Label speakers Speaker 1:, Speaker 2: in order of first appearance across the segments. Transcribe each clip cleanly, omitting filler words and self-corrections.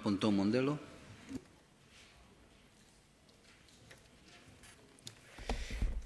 Speaker 1: Pontón Mondelo.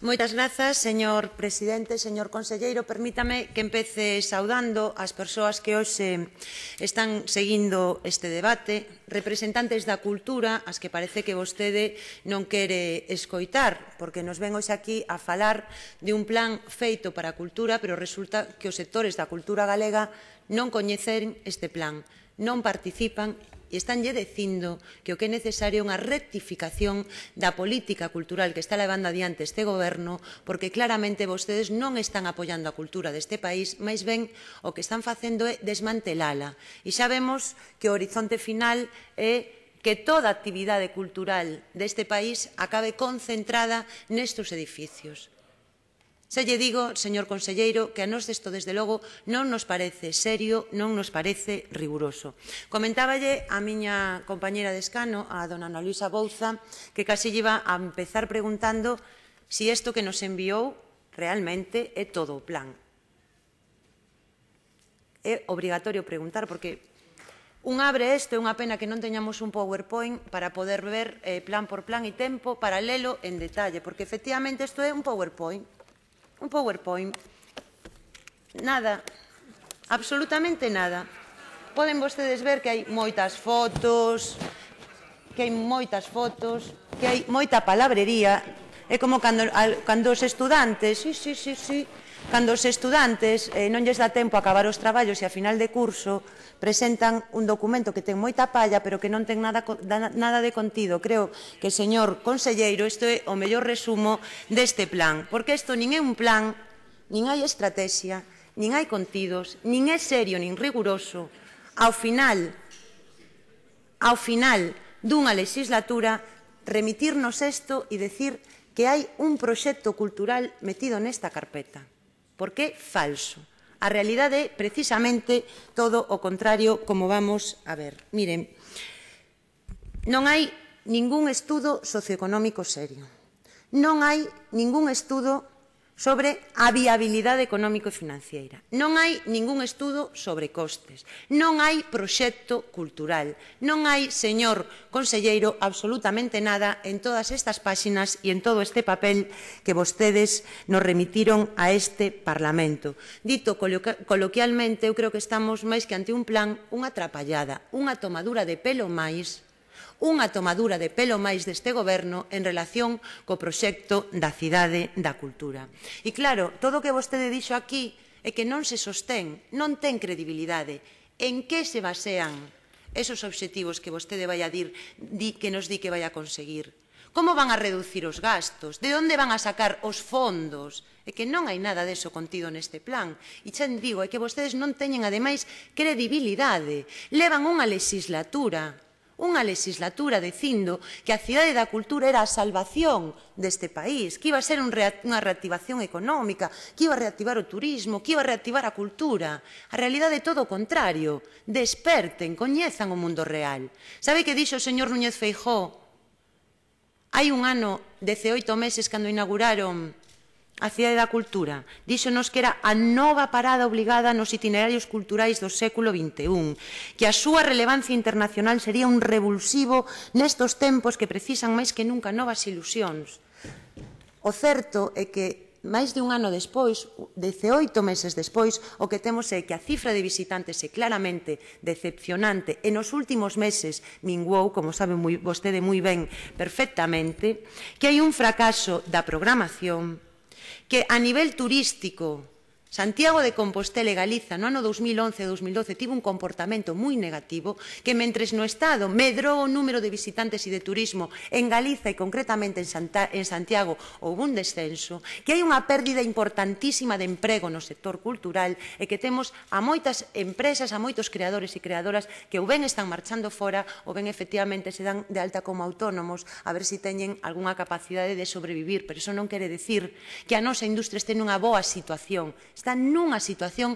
Speaker 2: Moitas grazas, señor presidente, señor conselleiro. Permítame que empece saudando as persoas que hoxe están seguindo este debate, representantes da cultura, as que parece que vostede non quere escoitar, porque nos ven hoxe aquí a falar de un plan feito para a cultura, pero resulta que os sectores da cultura galega non coñecen este plan, non participan e estanlle dicindo que o que é necesario é unha rectificación da política cultural que está levando adiante este goberno, porque claramente vostedes non están apoiando a cultura deste país, máis ben o que están facendo é desmantelala. E xa vemos que o horizonte final é que toda a actividade cultural deste país acabe concentrada nestes edificios. Xa lle digo, señor conselleiro, que a nós isto, desde logo, non nos parece serio, non nos parece riguroso. Comentáballe a miña compañera de escano, a dona Ana Luisa Bouza, que casi lle iba a empezar preguntando si isto que nos enviou realmente é todo o plan. É obrigatorio preguntar, porque un abre isto, é unha pena que non teñamos un PowerPoint para poder ver plan por plan e tempo para lelo en detalle, porque efectivamente isto é un PowerPoint. Un PowerPoint. Nada. Absolutamente nada. Poden vostedes ver que hai moitas fotos, que hai moita palabrería. É como cando os estudantes, cando os estudantes non lles dá tempo a acabar os traballos e a final de curso presentan un documento que ten moita palla pero que non ten nada de contido. Creo que, señor conselleiro, isto é o mellor resumo deste plan, porque isto nin é un plan, nin hai estrategia, nin hai contidos, nin é serio nin riguroso. Ao final dunha legislatura, remitirnos isto e dicir que hai un proxecto cultural metido nesta carpeta, porque é falso. A realidade é precisamente todo o contrario, como vamos a ver. Miren, non hai ningún estudo socioeconómico serio. Non hai ningún estudo sobre a viabilidade económico e financiera. Non hai ningún estudo sobre costes. Non hai proxecto cultural. Non hai, señor conselleiro, absolutamente nada en todas estas páxinas e en todo este papel que vostedes nos remitiron a este Parlamento. Dito coloquialmente, eu creo que estamos máis que ante un plan, unha trapallada, unha tomadura de pelo máis deste goberno en relación co proxecto da cidade da cultura. E claro, todo o que vostede dixo aquí é que non se sostén, non ten credibilidade. En que se basean esos obxectivos que vostede vai a dir que nos di que vai a conseguir? Como van a reducir os gastos? De onde van a sacar os fondos? É que non hai nada deso contido neste plan. E xa digo, é que vostedes non teñen, ademais, credibilidade. Levan unha legislatura dicindo que a cidade da cultura era a salvación deste país, que iba a ser unha reactivación económica, que iba a reactivar o turismo, que iba a reactivar a cultura. A realidade é todo o contrario. Desperten, coñezan o mundo real. Sabe que dixo o señor Núñez Feijóo hai un ano, 18 meses, cando inauguraron a Cidade da Cultura? Díxonos que era a nova parada obligada nos itinerarios culturais do século XXI, que a súa relevancia internacional sería un revulsivo nestos tempos que precisan máis que nunca novas ilusións. O certo é que máis de un ano despois, 18 meses despois, o que temos é que a cifra de visitantes é claramente decepcionante e nos últimos meses minguou, como sabe vostede moi ben perfectamente, que hai un fracaso da programación, que a nivel turístico Santiago de Compostela e Galiza no ano 2011 e 2012 tivo un comportamento moi negativo, que mentres no Estado medrou o número de visitantes e de turismo, en Galiza e concretamente en Santiago houve un descenso, que hai unha pérdida importantísima de emprego no sector cultural e que temos a moitas empresas, a moitos creadores e creadoras que ou ben están marchando fora ou ben efectivamente se dan de alta como autónomos a ver se teñen algunha capacidade de sobrevivir, pero iso non quere dicir que a nosa industria este nunha boa situación. Está nunha situación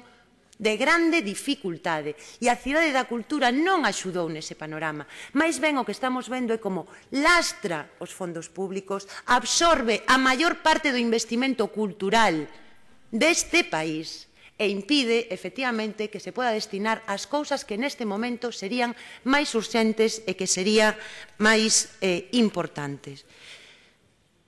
Speaker 2: de grande dificultade e a Cidade da Cultura non axudou nese panorama. Mais ben o que estamos vendo é como lastra os fondos públicos, absorbe a maior parte do investimento cultural deste país e impide, efectivamente, que se poda destinar ás cousas que neste momento serían máis urxentes e que serían máis importantes.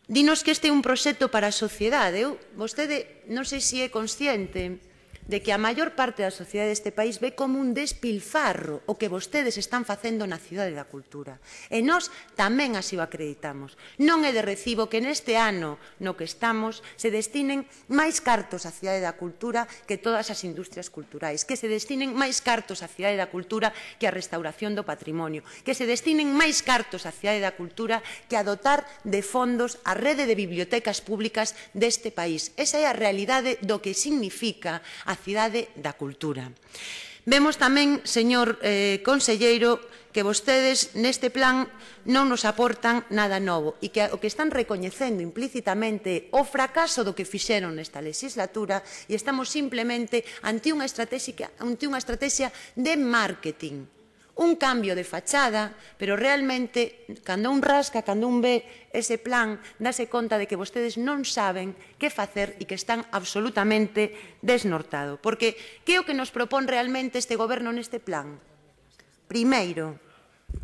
Speaker 2: Dinos que este é un proxecto para a sociedade. Vostede non sei se é consciente de que a maior parte da sociedade deste país ve como un despilfarro o que vostedes están facendo na Cidade da Cultura. E nós tamén así o acreditamos. Non é de recibo que neste ano no que estamos se destinen máis cartos á Cidade da Cultura que todas as industrias culturais, que se destinen máis cartos á Cidade da Cultura que a restauración do patrimonio, que se destinen máis cartos á Cidade da Cultura que a dotar de fondos a rede de bibliotecas públicas deste país. Esa é a realidade do que significa a Cidade da Cultura. Vemos tamén, señor conselleiro, que vostedes neste plan non nos aportan nada novo e que o que están recoñecendo implícitamente o fracaso do que fixeron nesta legislatura e estamos simplemente ante unha estrategia de marketing. Un cambio de fachada, pero realmente, cando un rasca, cando un ve ese plan, dáse conta de que vostedes non saben que facer e que están absolutamente desnortados. Porque, que é o que nos propón realmente este goberno neste plan? Primeiro,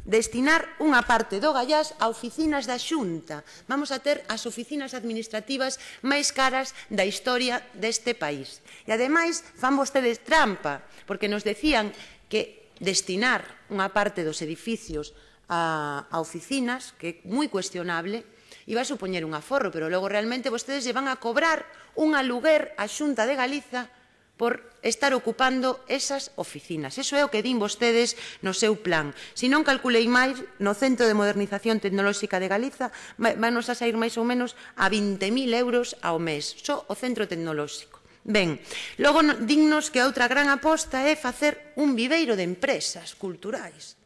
Speaker 2: destinar unha parte do gallás a oficinas da Xunta. Vamos a ter as oficinas administrativas máis caras da historia deste país. E, ademais, fan vostedes trampa, porque nos decían que destinar unha parte dos edificios a oficinas, que é moi cuestionable, iba a supoñer un aforro, pero logo realmente vostedes lle van a cobrar un aluguer á Xunta de Galiza por estar ocupando esas oficinas. Iso é o que din vostedes no seu plan. Se non calculei máis, no Centro de Modernización Tecnolóxica de Galiza vanos a sair máis ou menos a 20.000 euros ao mes, só o Centro Tecnolóxico. Ben, logo dignos que a outra gran aposta é facer un viveiro de empresas culturais.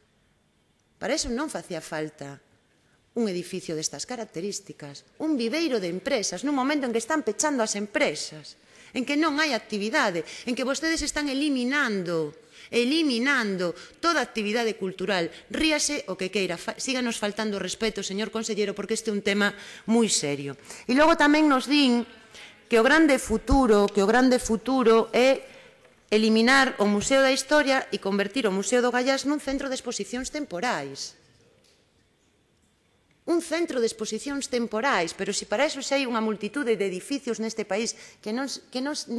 Speaker 2: Para iso non facía falta un edificio destas características, un viveiro de empresas nun momento en que están pechando as empresas, en que non hai actividade, en que vostedes están eliminando toda actividade cultural. Ríase o que queira, síganos faltando respeto, señor consellero, porque este é un tema moi serio. E logo tamén nos din que o grande futuro é eliminar o Museo da Historia e convertir o Museo do Gallás nun centro de exposicións temporais. Un centro de exposicións temporais, pero se para iso xa hai unha multitude de edificios neste país que non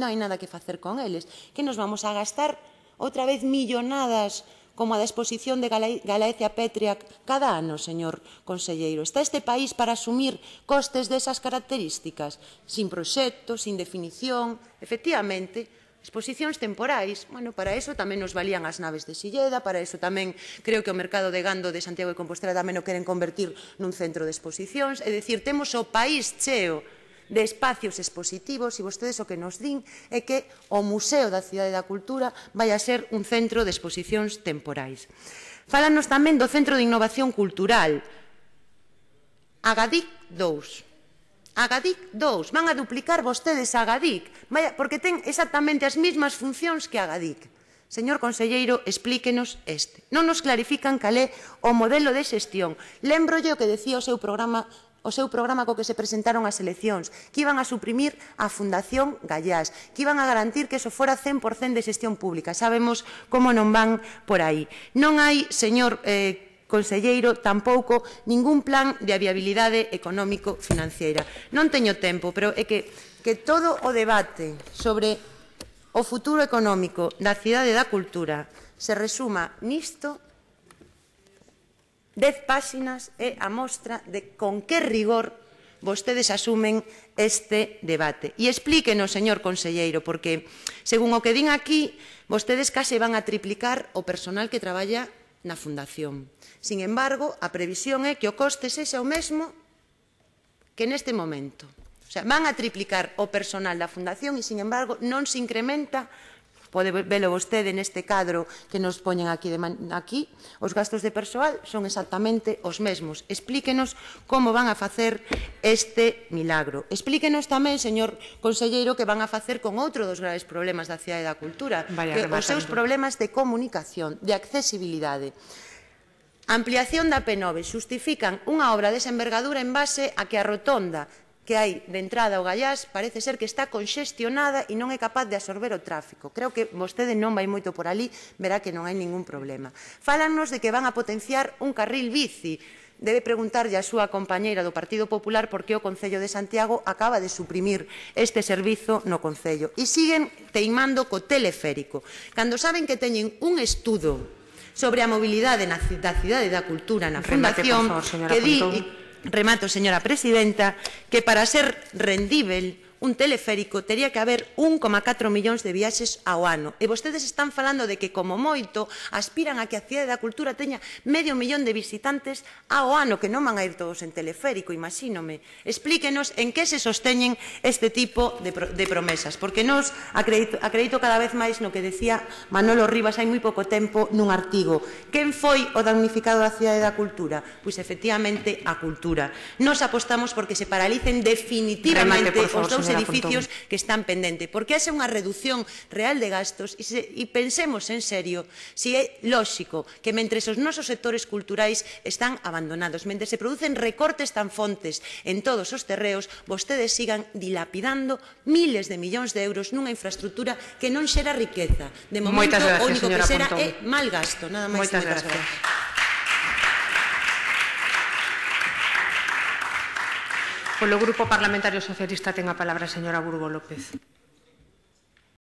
Speaker 2: hai nada que facer con eles, que nos vamos a gastar outra vez millonadas como a da exposición de Galaecia Petria cada ano, señor conselleiro. Está este país para asumir costes desas características, sin proxecto, sin definición. Efectivamente, exposicións temporais, para iso tamén nos valían as naves de Silleda, para iso tamén creo que o mercado de gando de Santiago de Compostela tamén o queren convertir nun centro de exposicións. É dicir, temos o país cheo de espacios expositivos e vostedes o que nos din é que o Museo da Cidade da Cultura vai a ser un centro de exposicións temporais. Fálanos tamén do Centro de Innovación Cultural. Agadic 2. Agadic 2. Van a duplicar vostedes a Agadic, porque ten exactamente as mesmas funcións que Agadic. Señor conselleiro, explíquenos este. Non nos clarifican cal é o modelo de xestión. Lémbrolle o que decía o seu programa co que se presentaron as eleccións, que iban a suprimir a Fundación Gallás, que iban a garantir que eso fora 100% de xestión pública. Sabemos como non van por aí. Non hai, señor conselleiro, tampouco ningún plan de viabilidade económico-financiera. Non teño tempo, pero é que todo o debate sobre o futuro económico da Cidade da Cultura se resuma nisto. 10 páxinas é a mostra de con que rigor vostedes asumen este debate. E explíquenos, señor conselleiro, porque, según o que din aquí, vostedes case van a triplicar o personal que traballa na Fundación. Sin embargo, a previsión é que o coste sexa o mesmo que neste momento. O sea, van a triplicar o personal da Fundación e, sin embargo, non se incrementa. Pode velo vostede neste cadro que nos poñen aquí. Os gastos de persoal son exactamente os mesmos. Explíquenos como van a facer este milagro. Explíquenos tamén, señor conselleiro, que van a facer con outro dos graves problemas da Cidade da Cultura, que os seus problemas de comunicación, de accesibilidade. A ampliación da P9 xustifican unha obra desa envergadura en base a que a rotonda que hai de entrada ao Gaiás parece ser que está conxestionada e non é capaz de absorber o tráfico. Creo que vostede non vai moito por ali, verá que non hai ningún problema. Fálannos de que van a potenciar un carril bici. Debe preguntarlle a súa compañeira do Partido Popular por que o Concello de Santiago acaba de suprimir este servizo no Concello. E siguen teimando co teleférico, cando saben que teñen un estudo sobre a mobilidade da Cidade da Cultura na Fundación que di, remato, señora presidenta, que para ser rendível un teleférico tería que haber 1,4 millóns de viaxes ao ano. E vostedes están falando de que, como moito, aspiran a que a Cidade da Cultura teña medio millón de visitantes ao ano, que non van a ir todos en teleférico, imagínome. Explíquenos en que se sosteñen este tipo de promesas, porque nos acredito cada vez máis no que decía Manolo Rivas hai moi pouco tempo nun artigo. Quen foi o damnificado da Cidade da Cultura? Pois, efectivamente, a cultura. Nos apostamos porque se paralicen definitivamente os dous edificios que están pendentes, porque haxe unha reducción real de gastos e pensemos en serio se é lóxico que mentres os nosos sectores culturais están abandonados, mentres se producen recortes tan fontes en todos os terreos, vostedes sigan dilapidando miles de millóns de euros nunha infraestructura que non xera riqueza. De momento, o único que xera é mal gasto. Nada máis.
Speaker 1: Moitas gracias. Polo Grupo Parlamentario Socialista ten a palabra a señora Burgo López.